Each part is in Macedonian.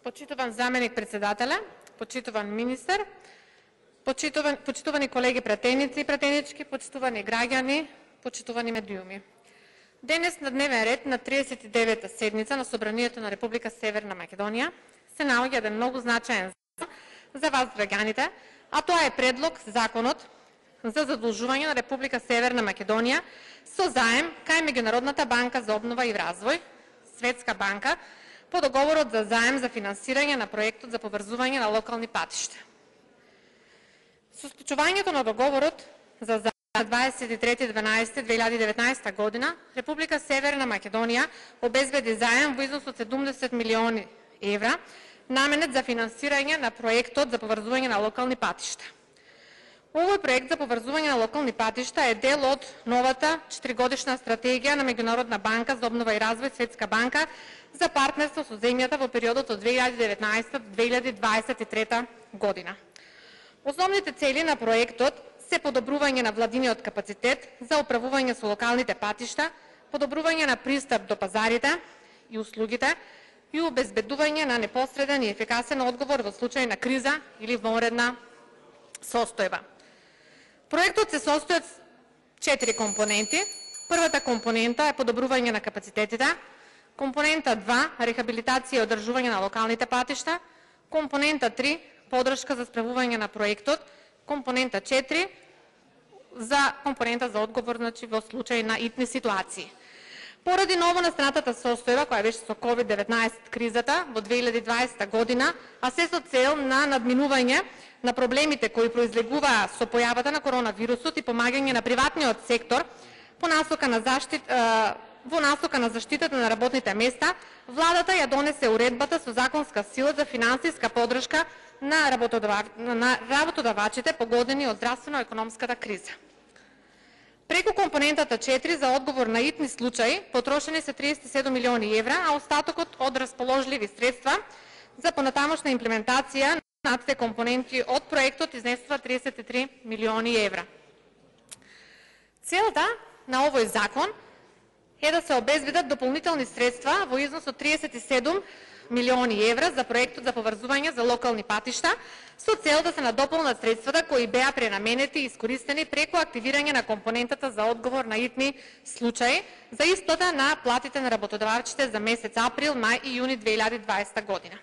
Почитуван заменик председателя, почитуван министер, почитувани колеги пратеници и пратенички, почитувани граѓани, почитувани медиуми. Денес на дневен ред на 39-та седница на Собранието на Република Северна Македонија се наоѓа еден многу значаен закон за вас граѓаните, а тоа е предлог законот за задолжување на Република Северна Македонија со заем кај Меѓународната банка за обнова и развој, Светска банка, по договорот за заем за финансирање на проектот за поврзување на локални патишта. Со склучувањето на договорот за заем 23.12.2019 година, Република Северна Македонија обезбеди заем во износ од 70 милиони евра, наменет за финансирање на проектот за поврзување на локални патишта. Овој проект за поврзување на локални патишта е дел од новата 4-годишна стратегија на Меѓународна банка за обнова и развој, Светска банка, за партнерство со земјата во периодот од 2019-2023 година. Основните цели на проектот се подобрување на владиниот капацитет за управување со локалните патишта, подобрување на пристап до пазарите и услугите и обезбедување на непосреден и ефикасен одговор во случај на криза или вонредна состојба. Проектот се состои од 4 компоненти. Првата компонента е подобрување на капацитетите, компонента 2 рехабилитација и одржување на локалните патишта, компонента 3 поддршка за справување на проектот, компонента 4 за компонента за одговор во случај на итни ситуации. Поради новонастанатата состојба која беше со COVID-19 кризата во 2020 година, а се со цел на надминување на проблемите кои произлегуваа со појавата на коронавирусот и помагање на приватниот сектор во насока на заштитата на работните места, владата ја донесе уредбата со законска сила за финансиска поддршка на работодавачите погодени од здравствено-економската криза. Преку компонентата 4 за одговор на итни случаи потрошени се 37 милиони евра, а остатокот од расположливи средства за понатамошна имплементација на две компоненти од проектот изнесува 33 милиони евра. Целта на овој закон е да се обезбедат дополнителни средства во износ од 37 милиони евра за проектот за поврзување за локални патишта, со цел да се надополнат средствата кои беа пренаменети и искористени преку активирање на компонентата за одговор на итни случаи за исплата на платите на работодавачите за месец април, мај и јуни 2020 година.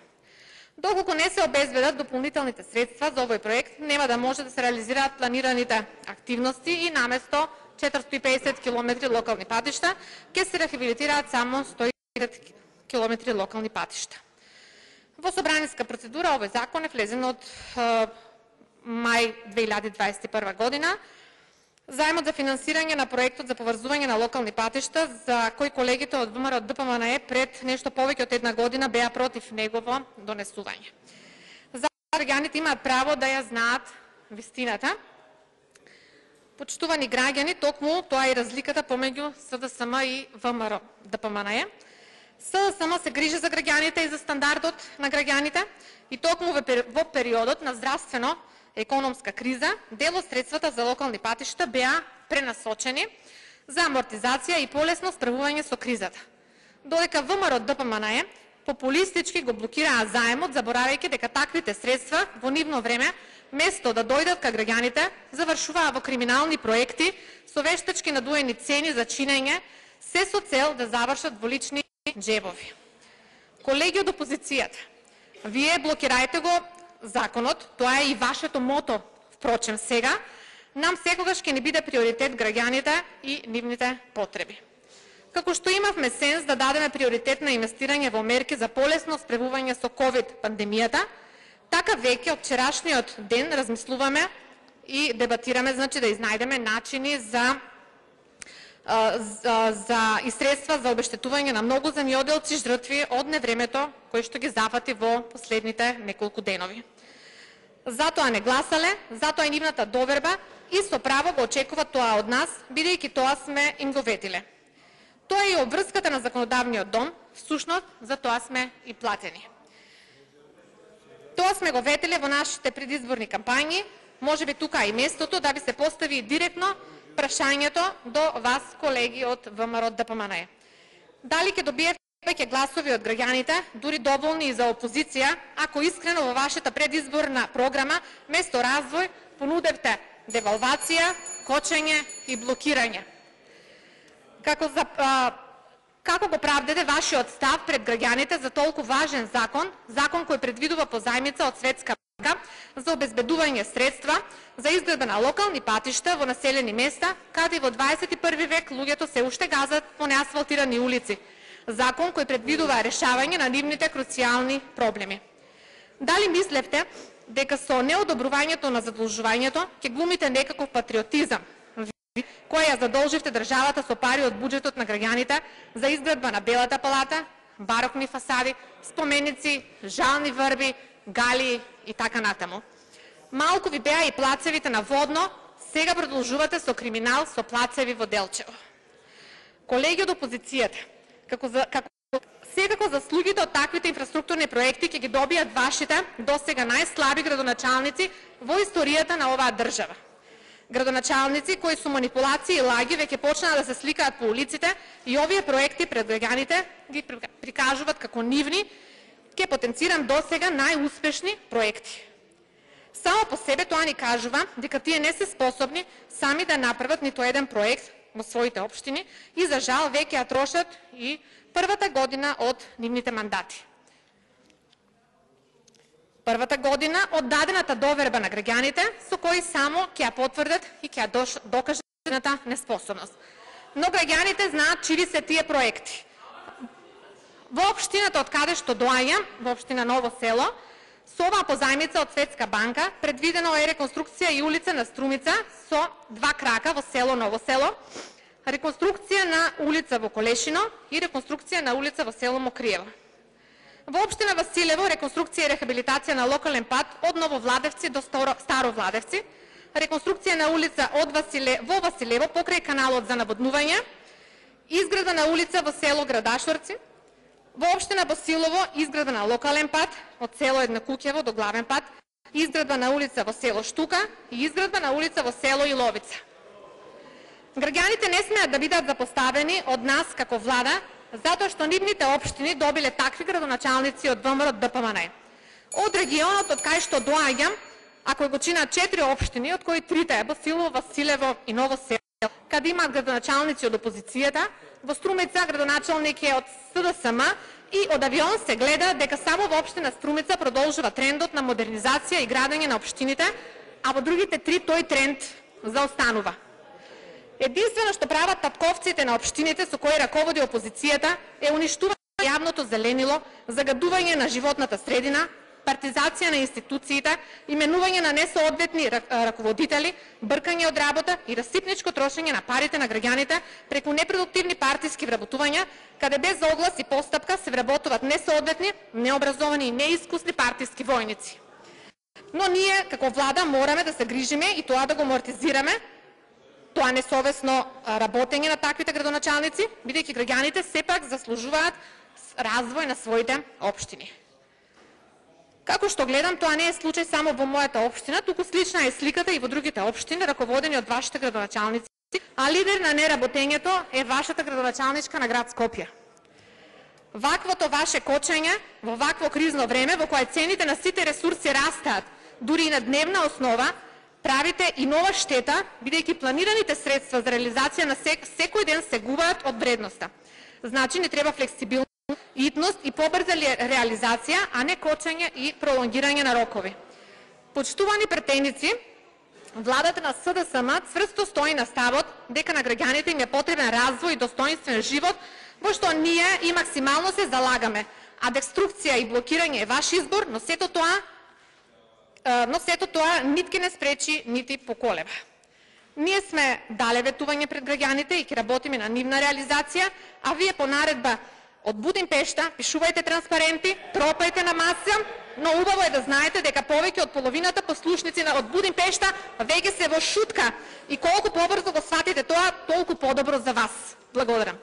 Доколку не се обезбедат дополнителните средства за овој проект, нема да може да се реализираат планираните активности и наместо 450 км локални патишта, ќе се рехабилитираат само 150 км локални патишта. Во собраниска процедура овој закон е влезен од мај 2021 година. Заемот за финансирање на проектот за поврзување на локални патишта, за кој колегите од ВМРО ДПМНЕ пред нешто повеќе од една година беа против негово донесување. Граѓаните имаат право да ја знаат вистината. Почитувани граѓани, токму тоа е разликата помеѓу СДСМ и ВМРО ДПМНЕ. СДСМ се грижи за граѓаните и за стандардот на граѓаните и токму во периодот на здравствено-економска криза дел од средствата за локални патишта беа пренасочени за амортизација и полесно справување со кризата. Додека ВМРО ДПМНЕ популистички го блокираа заемот, заборавајќи дека таквите средства во нивно време, место да дојдат кај граѓаните, завршуваа во криминални проекти со вештачки надуени цени за чинење, се со цел да завршат во лични джебови. Колеги од опозицијата, вие блокирајте го законот, тоа е и вашето мото, впрочем сега, нам секогаш ќе не биде приоритет граѓаните и нивните потреби. Како што имавме сенс да дадеме приоритет на инвестирање во мерки за полесно справување со COVID пандемијата, така веќе од вчерашниот ден размислуваме и дебатираме, значи да изнајдеме начини и средства за обештетување на многу земјоделци жртви од невремето кој што ги зафати во последните неколку денови. Затоа не гласале, затоа и нивната доверба и со право го очекуваат тоа од нас, бидејќи тоа сме им го ветиле. Тоа е и обврската на законодавниот дом, всушност за тоа сме и платени. Тоа сме го ветиле во нашите предизборни кампањи, можеби тука и местото да би се постави директно прашањето до вас, колеги од ВМРО ДПМНЕ. Дали ќе добиете Веќе гласови од граѓаните, дури доволни и за опозиција, ако искрено во вашата предизборна програма, место развој, понудевте девалвација, кочење и блокирање. Како го правдете вашиот став пред граѓаните за толку важен закон кој предвидува позајмица од Светска банка за обезбедување средства за изградба на локални патишта во населени места, каде во 21 век луѓето се уште газат по неасфалтирани улици. Закон кој предвидува решавање на нивните круцијални проблеми. Дали мислевте дека со неодобрувањето на задолжувањето ќе глумите некаков патриотизам, која ја задолживте државата со пари од буџетот на граѓаните за изградба на Белата палата, барокни фасади, споменици, жални врби, галии и така натаму. Малку ви беа и плацевите на Водно, сега продолжувате со криминал со плацеви во Делчево. Колеги од опозицијата, секако заслугите од таквите инфраструктурни проекти ќе ги добијат вашите досега најслаби градоначалници во историјата на оваа држава. Градоначалници кои со манипулации и лаги веќе почнаа да се сликаат по улиците и овие проекти пред граѓаните ги прикажуваат како нивни, ќе потенцирам досега најуспешни проекти. Само по себе тоа ни кажува дека тие не се способни сами да направат ниту еден проект во своите општини и за жал веќе ја трошат и првата година од нивните мандати. Првата година од дадената доверба на граѓаните со кои само ќе ја потврдат и ќе ја докажат нивната неспособност. Но граѓаните знаат чии се тие проекти. Во општината од каде што доаѓам, во општина Ново село, со оваа позајмица од Светска банка предвидено е реконструкција и улица на Струмица со 2 крака во село Ново село, реконструкција на улица во Колешино и реконструкција на улица во село Мокриево. Во општина Василево реконструкција и рехабилитација на локален пат од Ново Владевци до Старо Владевци, реконструкција на улица во Василево покрај каналот за наводнување, изградба на улица во село Градашорци, во општина Босилово изградба на локален пат од село Еднакуќево до главен пат, изградба на улица во село Штука и изградба на улица во село Иловица. Граѓаните не смеат да бидат запоставени од нас како влада, затоа што нивните општини добиле такви градоначалници од ВМРО ДПМН. Од регионот од кај што доаѓам, ако го чинат 4 општини, од кои 3 е Босилово, Василево и Ново село, каде имаат градоначалници од опозицијата, во Струмица градоначалник е од СДСМ и од авион се гледа дека само во општина Струмица продолжува трендот на модернизација и градење на општините, а во другите 3 тој тренд заостанува. Единствено што прават татковците на општините со кои раководи опозицијата е уништување на јавното зеленило, загадување на животната средина, партизација на институциите, именување на несоодветни раководители, бркање од работа и расипничко трошење на парите на граѓаните преку непродуктивни партиски вработувања, каде без оглас и постапка се вработуваат несоодветни, необразовани и неискусни партиски војници. Но ние како влада мораме да се грижиме и тоа да го амортизираме, тоа несовесно работење на таквите градоначалници, бидејќи граѓаните сепак заслужуваат развој на своите општини. Како што гледам, тоа не е случај само во мојата општина, туку слична е сликата и во другите општини, раководени од вашите градоначалници, а лидер на неработењето е вашата градоначалничка на град Скопје. Ваквото ваше кочење во вакво кризно време, во кое цените на сите ресурси растаат, дури и на дневна основа, правите и нова штета, бидејќи планираните средства за реализација на секој ден се губаат од вредноста. Значи, не треба флексибилност, итност и побрза реализација, а не кочење и пролонгирање на рокови. Почитувани претеници, владата на СДСМ цврсто стои на ставот дека на граѓаните им е потребен развој и достоинствен живот, во што ние и максимално се залагаме. А деструкција и блокирање е ваш избор, но сето тоа нитки не спречи, нити поколева. Ние сме дале ветување пред граѓаните и ќе работиме на нивна реализација, а вие по наредба од Будимпешта пишувајте транспаренти, тропајте на маса, но убаво е да знаете дека повеќе од половината послушници од Будимпешта веќе се во шутка и колку побрзо го сватите тоа, толку подобро за вас. Благодарам.